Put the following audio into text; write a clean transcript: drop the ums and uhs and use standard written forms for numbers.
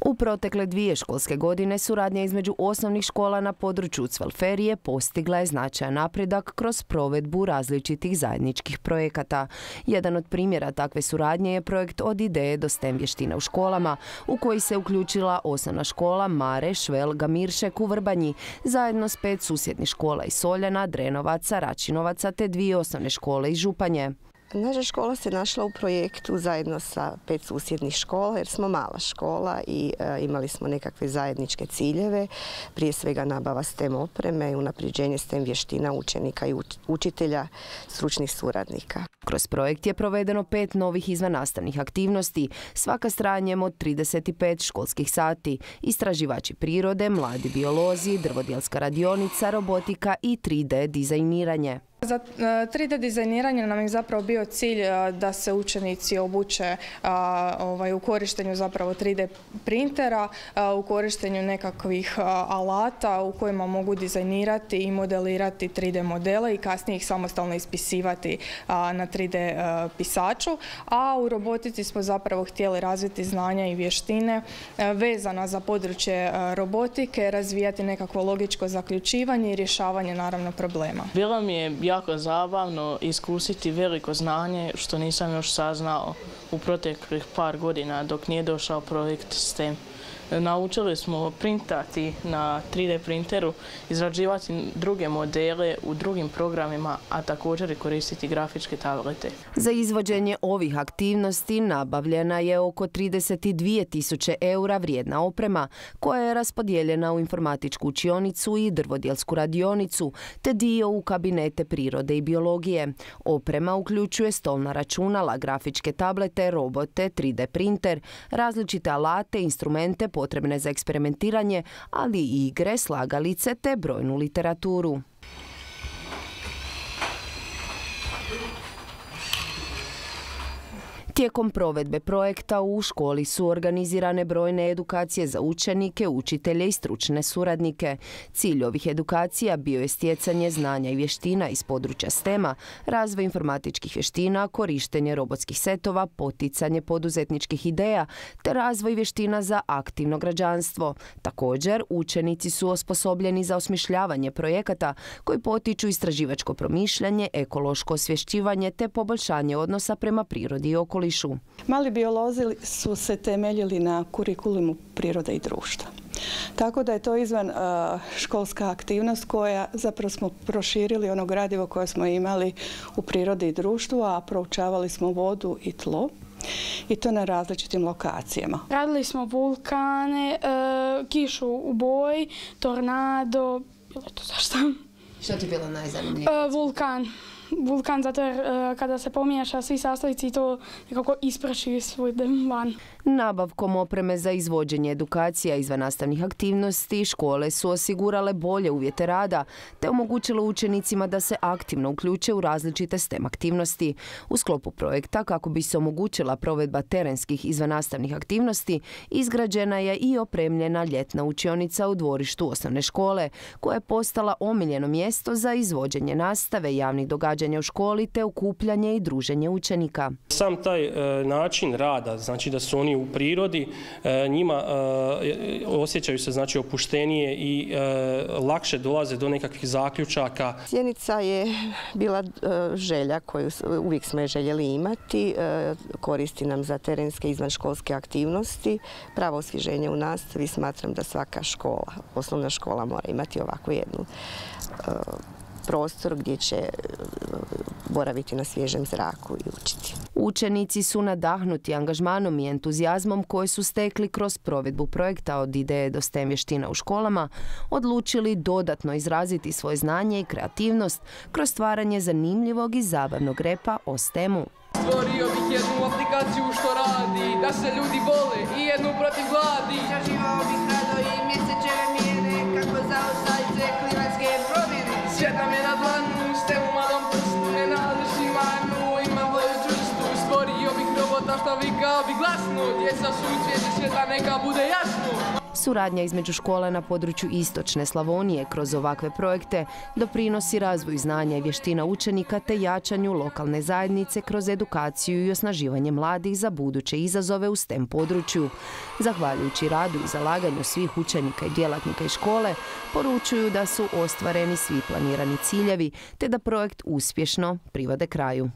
U protekle 2 školske godine suradnja između osnovnih škola na području Cvelferije postigla je značajan napredak kroz provedbu različitih zajedničkih projekata. Jedan od primjera takve suradnje je projekt Od ideje do STEM vještina u školama, u koji se uključila osnovna škola Mare Švel Gamiršek u Vrbanji, zajedno s 5 susjednih škola iz Soljana, Drenovaca, Račinovaca te 2 osnovne škole iz Županje. Naša škola se našla u projektu zajedno sa 5 susjednih škola jer smo mala škola i imali smo nekakve zajedničke ciljeve, prije svega nabava STEM opreme i unapređenje STEM vještina učenika i učitelja, stručnih suradnika. Kroz projekt je provedeno 5 novih izvannastavnih aktivnosti, svaka s trajanjem od 35 školskih sati, istraživači prirode, mladi biolozi, drvodjelska radionica, robotika i 3D dizajniranje. Za 3D dizajniranje nam je zapravo bio cilj da se učenici obuče u korištenju zapravo 3D printera, u korištenju nekakvih alata u kojima mogu dizajnirati i modelirati 3D modele i kasnije ih samostalno ispisivati na 3D pisaču. A u robotici smo zapravo htjeli razviti znanja i vještine vezana za područje robotike, razvijati nekakvo logičko zaključivanje i rješavanje naravno problema. Bilo mi je jako zabavno iskusiti veliko znanje što nisam još saznao u proteklih par godina dok nije došao projekt STEM. Naučili smo printati na 3D printeru, izrađivati druge modele u drugim programima, a također i koristiti grafičke tablete. Za izvođenje ovih aktivnosti nabavljena je oko 32.000 eura vrijedna oprema koja je raspodijeljena u informatičku učionicu i drvodjelsku radionicu te dio u kabinete prirode i biologije. Oprema uključuje stolna računala, grafičke tablete, robote, 3D printer, različite alate, instrumente potrebne za eksperimentiranje, ali i igre, slagalice te brojnu literaturu. Tijekom provedbe projekta u školi su organizirane brojne edukacije za učenike, učitelje i stručne suradnike. Cilj ovih edukacija bio je stjecanje znanja i vještina iz područja STEM-a, razvoj informatičkih vještina, korištenje robotskih setova, poticanje poduzetničkih ideja te razvoj vještina za aktivno građanstvo. Također, učenici su osposobljeni za osmišljavanje projekata koji potiču istraživačko promišljanje, ekološko osvješćivanje te poboljšanje odnosa prema prirodi i okolišu. Mali biolozi su se temeljili na kurikulumu prirode i društva. Tako da je to izvan školska aktivnost koja zapravo smo proširili ono gradivo koje smo imali u prirodi i društvu, a proučavali smo vodu i tlo. I to na različitim lokacijama. Radili smo vulkane, kišu u boji, tornado, bilo je to zašto. Što ti je bilo najzanimljivije? Vulkan, zato jer kada se pomiješa svi sastojci to nekako isprši svoj van. Nabavkom opreme za izvođenje edukacija izvannastavnih aktivnosti škole su osigurale bolje uvjete rada te omogućile učenicima da se aktivno uključe u različite STEM aktivnosti. U sklopu projekta, kako bi se omogućila provedba terenskih izvannastavnih aktivnosti, izgrađena je i opremljena ljetna učionica u dvorištu osnovne škole, koja je postala omiljeno mjesto za izvođenje nastave, javnih događanja u školi te okupljanje i druženje učenika. Sam taj način rada, znači da su oni u prirodi, njima osjećaju se znači opuštenije i lakše dolaze do nekakvih zaključaka. Sjenica je bila želja koju uvijek smo je željeli imati, koristi nam za terenske izvanškolske aktivnosti, pravo osvježenje u nastavi. Smatram da svaka škola, osnovna škola mora imati ovakvu jednu prostor gdje će boraviti na svježem zraku i učiti. Učenici su nadahnuti angažmanom i entuzijazmom koje su stekli kroz provedbu projekta Od ideje do STEM vještina u školama, odlučili dodatno izraziti svoje znanje i kreativnost kroz stvaranje zanimljivog i zabavnog repa o STEM-u. Stvorio bih jednu aplikaciju što radi, da se ljudi vole i jednu protiv gladi. Istraživao bih rado i mjesečeve mjere, kako zaostajce klimatske promjene. Svijet nam je na dlanu, STEM u malom prstu, ne nališi manu, imam boju čvrstu. Stvorio bih robota što vika bi glasno, djeca su u cvijetu svijeta, neka bude jasno. Suradnja između škola na području istočne Slavonije kroz ovakve projekte doprinosi razvoju znanja i vještina učenika te jačanju lokalne zajednice kroz edukaciju i osnaživanje mladih za buduće izazove u STEM području. Zahvaljujući radu i zalaganju svih učenika i djelatnika iz škole, poručuju da su ostvareni svi planirani ciljevi te da projekt uspješno privode kraju.